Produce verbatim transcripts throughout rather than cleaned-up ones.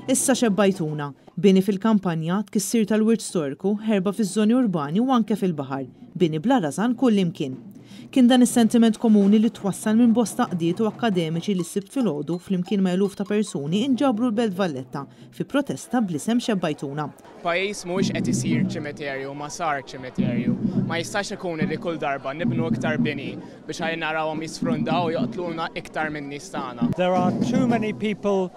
Issa xebbajtuna, bini fil-kampanja, tkissir tal-wirt storiku, ħerba fiż-żoni urbani u anke fil-baħar, bini bla rażan kullimkien. Kien dan is-sentiment komuni li twassal minn bosta għaqdiet u akkademiċi li s-Sibt filgħodu flimkien ma' eluf ta' persuni inġabru l-Belt Valletta fi protesta bl-isem Xebbajtuna. Pajjiż mhuwiex qed isir ċimiterju, ma sar ċimiterju. Ma jistax ikun li kull darba nibnu iktar bini biex ħalli narawhom jisfrundaw u joqtluna iktar minn nies tagħna. There are too many people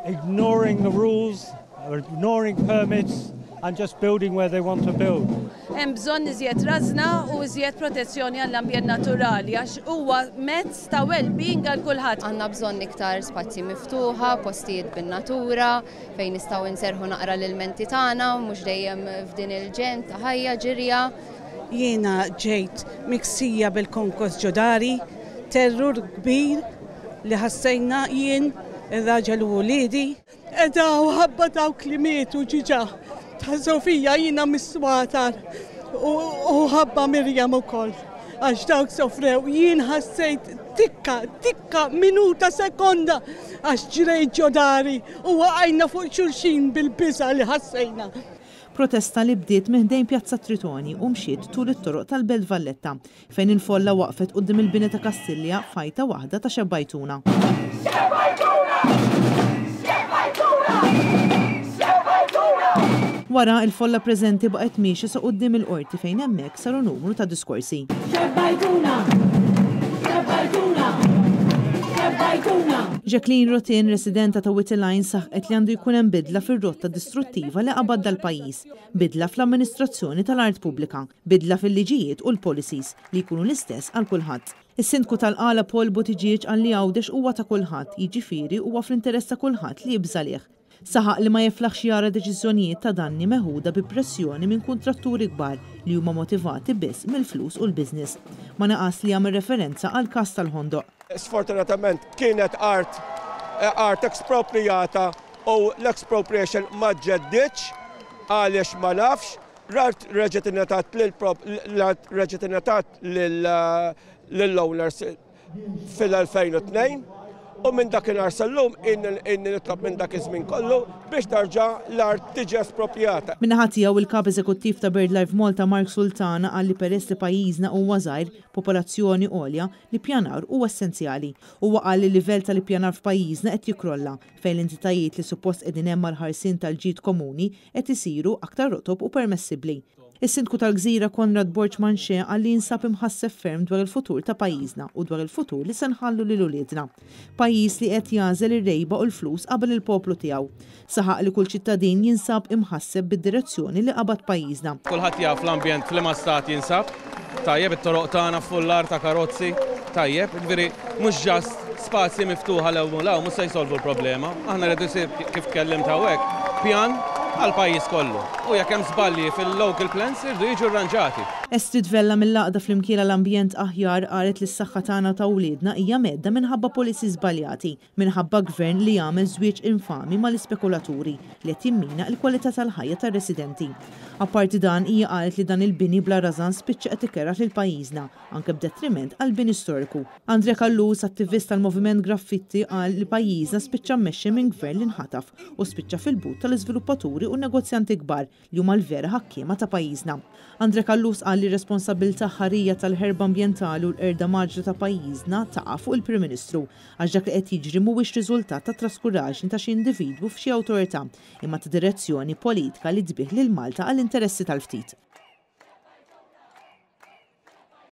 ignoring the rules, ignoring permits and just building where they want to build. Hemm bżonn iżjed rażna u iżjed protezzjoni għall-ambjent naturali għax huwa mezz ta' well-being għal kulħadd. Għandna bżonn iktar spazji miftuħa, postijiet bin-natura, fejn nistgħu nserħu naqra l-menti tagħna, mhux dejjem f'din il-ġenn ta' ħajja ġirja. Jiena ġejt miksija bil-konkos ġo dari, terrur kbir li ħassejna jien, ir-raġel u wliedi. Edha u ħabba dawk li mietu ġiġa ta' Sofija jiena mis-Swatar u ħabba Mirjam ukoll. Għax dawk sofrew, jien ħassejt tikka, tikka, minuta, sekonda, għax ġrejt ġo dari u waqajna fuq xulxin bil-biża' li ħassejna. Protesta li bdiet minn ħdejn Pjazza Tritoni u mxiet tul it-toroq tal-Belt Valletta, fejn il-folla waqfet quddiem il-bini ta' Kastilja f'għajta waħda ta' Xebbajtuna. Xebbajtuna! Xebbajtuna! Xebbajtuna! Wara, il-folla preżenti baqgħet miexja sa quddiem il-qorti fejn hemmhekk saru numru ta' diskorsi. Xebbajtuna! Xebbajtuna! Xebbajtuna! Jacqueline Rotin, residenta ta' Wied il-Għajn, saħqet li għandu jkun hemm bidla fir-rotta distruttiva li qabad dal-pajjiż, bidla fl-amministrazzjoni tal-art pubblika, bidla fil-liġijiet u l-policies li jkunu l-istess għal kulħadd. Is-sindku tal-Qala Paul Buttigieg qal li Għawdex huwa ta' kulħadd, jiġifieri huwa fl-interess ta' kulħadd li jibża' lih. Saħaq li ma jiflaħx jara deċiżjonijiet ta' danni meħuda bi pressjoni minn kuntratturi kbar li huma motivati biss mill-flus u l-business. Ma naqas li jagħmel referenza għal każ tal-Ħondoq. Sfortunatament kienet art, art expropriata u l-expropriation ma ġeddiċ għaliex ma nafx, l-art reġgħet ingħatat lil reġgħet ingħatat lill-owners fil-elfejn u tnejn u minn dakinhar sal-lum inni nitlob minn dak iż-żmien kollu biex tarġa' l-art tiġi espropjata. Min-naħa tiegħu, il-kap eżekuttiv ta' BirdLife Malta Mark Sultana qal li peress li pajjiżna huwa żgħir, popolazzjoni għolja, l-ippjanar huwa essenzjali. Huwa qal li l-livell tal-ippjanar f'pajjiżna qed jikrolla, fejn l-entitajiet li suppost qegħdin hemm għall-ħarsien tal-ġid komuni qed isiru aktar rotob u permessibbli. Is-sindku tal-Gżira Konrad Borg Manché qal li jinsab imħasseb ferm dwar il-futur ta' pajjiżna u dwar il-futur li se nħallu lil uliedna. Pajjiż li qed jagħżel ir-rejba u l-flus qabel il-poplu tiegħu. Saħaq li kull ċittadin jinsab imħasseb bid-direzzjoni li qabad pajjiżna. Kulħadd jaf l-ambjent f'liema stat jinsab, tajjeb, it-toroq tagħna fullar ta' karozzi, tajjeb, ġifieri mhux just spazji miftuħa 'l hawn u mhux se jsolvu l-problema. Aħna rridu jsir, kif tkellimt hawnhekk, pjan għal pajjiż kollu. U jekk hemm żbalji fil-local plans, irdu jiġu rranġati. Estrid Vella mill-Għaqda Flimkien l-Ambjent Aħjar qalet li s-saħħa tagħna, ta' wliedna, hija mhedda minħabba policy żbaljati, minħabba gvern li jagħmel żwieġ infami mal-ispekulaturi li qed jimmina l-kwalità tal-ħajja tar-residenti. Apparti dan, hija qalet li dan il-bini bla rażan spiċċa qed ikerraħ lil pajjiżna, anke b'detriment għal bini storiku. Andre Callus, attivist tal-Moviment Graffitti, qal li pajjiżna spiċċa mmexxi minn gvern li nħataf u spiċċa fil-but tal-iżviluppaturi u negozjanti kbar li huma l-vera ħakkiema ta' pajjiżna. Andre Callus qal li responsabilità ħarija tal-ħerba ambjentali u l-qerda mgħaġġla ta' pajjiżna taqa' fuq il-Prim Ministru, għax dak li qed jiġri mhuwiex riżultat ta' traskuraġni ta' xi individwu f'xi awtorità, imma ta' direzzjoni politika li tbigħ lil Malta għall-interessi tal-ftit.